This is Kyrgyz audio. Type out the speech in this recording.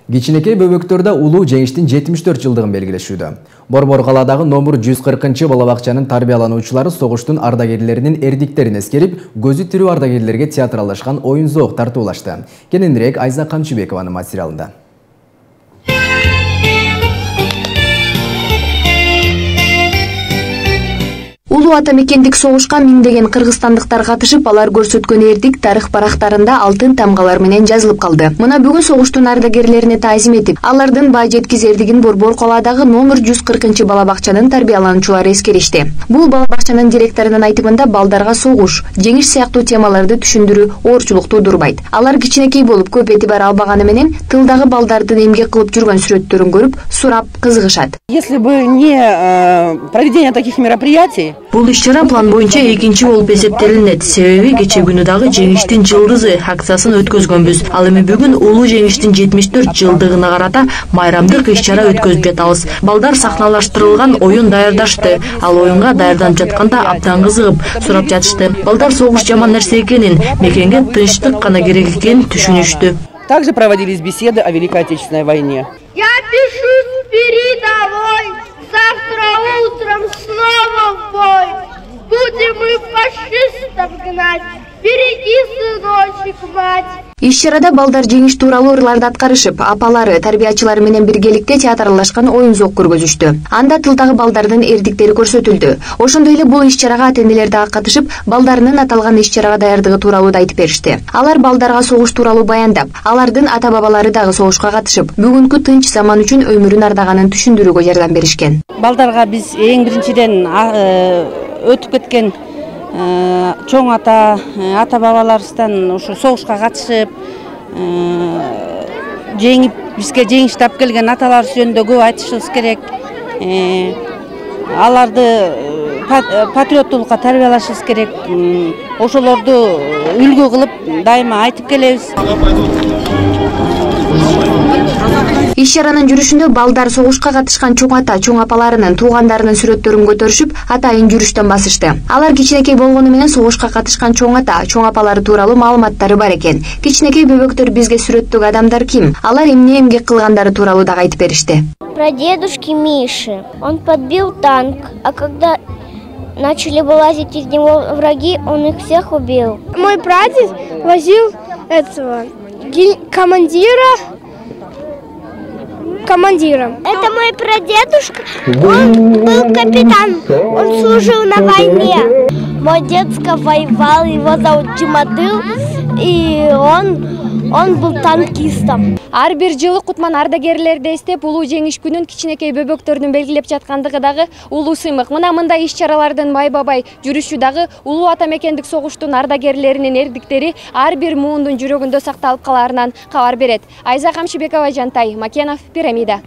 Кичинекей бөбөктөрдө улуу жеңиштин 74 жылдыгын белгилешүүдө. Борбор калаадагы номер 140 балабакчанын тарбиялануучулары согуштун ардагерлеринин эрдиктерин эскерип, көзү тирүү ардагерлерге театралдашкан оюн-зоок тартуулашты. Кененирээк Айза Камчыбекованын материалында. Улуу ата мекендик согушка миңдеген кыргызстандыктар катышып, алар көрсөткөн эрдик тарых барактарында алтын тамгалар менен жазылып калды. Мына бүгүн согуштун ардагерлерине таазим этип, алардын баа жеткиз эрдигин Борбор калаадагы номер 140 балабакчанын тарбиялануучулары эскеришти. Бул балабакчанын директорунун айтымында балдарга согуш, жеңиш сыяктуу темаларды түшүндүрүү оорчулук туудурбайт. Алар кичинекей болуп көп этибар албаганы менен тылдагы балдардын эмгек кылып жүргөн сүрөттөрүн көрүп, сурап, кызыгышат. Если бы не проведение таких мероприятий, бул иш-чара план боюнча экинчи болуп эсептелинет. Себеби кечээ күнү дагы жеңиштин жылдызы акциясын өткөзгөнбүз. Ал эми бүгүн улуу жеңиштин 74 жылдыгына карата майрамдык иш-чара өткөзүп жатабыз. Балдар сахналаштырылган оюн даярдашты. Ал оюнга даярданып жатканда абдан кызыгып, сурап жатышты. Балдар согуш жаман нерсе экенин, мекенге тынчтык гана керек экенин түшүнүштү. Также проводились беседы о Великой Отечественной войне. Я пишу с передовой, завтра утром снова в бой. Будем мы фашистов гнать, береги, сыночек, мать. Иш-чарада балдар жеңиш тууралуу ырларды аткарышып, апалары, тарбиячылары менен биргеликте театралдашкан оюн-зоок көргөзүштү. Анда тылдагы балдардын эрдиктери көрсөтүлдү. Ошондой эле бул иш-чарага ата-энелер дагы катышып, балдарынын аталган иш-чарага даярдыгы тууралуу да айтып беришти. Алар балдарга согуш тууралуу баяндап, алардын ата-бабалары дагы согушка катышып, бүгүнкү тынч заман үчүн өмүрүн ардаганын түшүндүрүүгө жардам беришкен. Балдарга биз эң биринчиден өтүп кеткен чоң ата-бабаларыбыздан ушу согушка катышып, жеңип бизге жеңиш тап келген аталарыбыз жөнүндө көп айтышыбыз керек. Аларды патриоттуулукка тарбиялашыбыз керек. Ошолорду үлгү кылып дайыма айтып келебиз. Иш-чаранын жүрүшүндө балдар согушка катышкан чоң ата, чоң апаларынын, туугандарынын сүрөттөрүн көтөрүшүп, атайын жүрүштөн басышты. Алар кичинекей болгону менен согушка катышкан чоң ата, чоң апалары тууралуу маалыматтары бар экен. Кичинекей бөбөктөр бизге сүрөттөгү адамдар ким? Алар эмне эмгек кылгандары тууралуу да айтып беришти. Про дедушки Миши. Он подбил танк, а когда начали вылазить из него враги, он их всех убил. Мой прадед возил этого командиром. Это мой прадедушка, он был капитан, он служил на войне. Мой дедушка воевал, его зовут Джимадыл, и он был танкистом. Ар бир жылы Кутман ардагерлерди эстеп, улуу жеңиш күнүн кичинекей бөбөктөрдүн белгилеп жаткандыгы дагы улуу сыймык. Мына мындай иш-чаралардын майбабай жүрүшү дагы улуу ата мекендик согуштун ардагерлеринин эрдиктери ар бир муундун жүрөгүндө сакталып калаарынан кабар берет. Айза Камчыбекова, Жантай Макенов, Пирамида.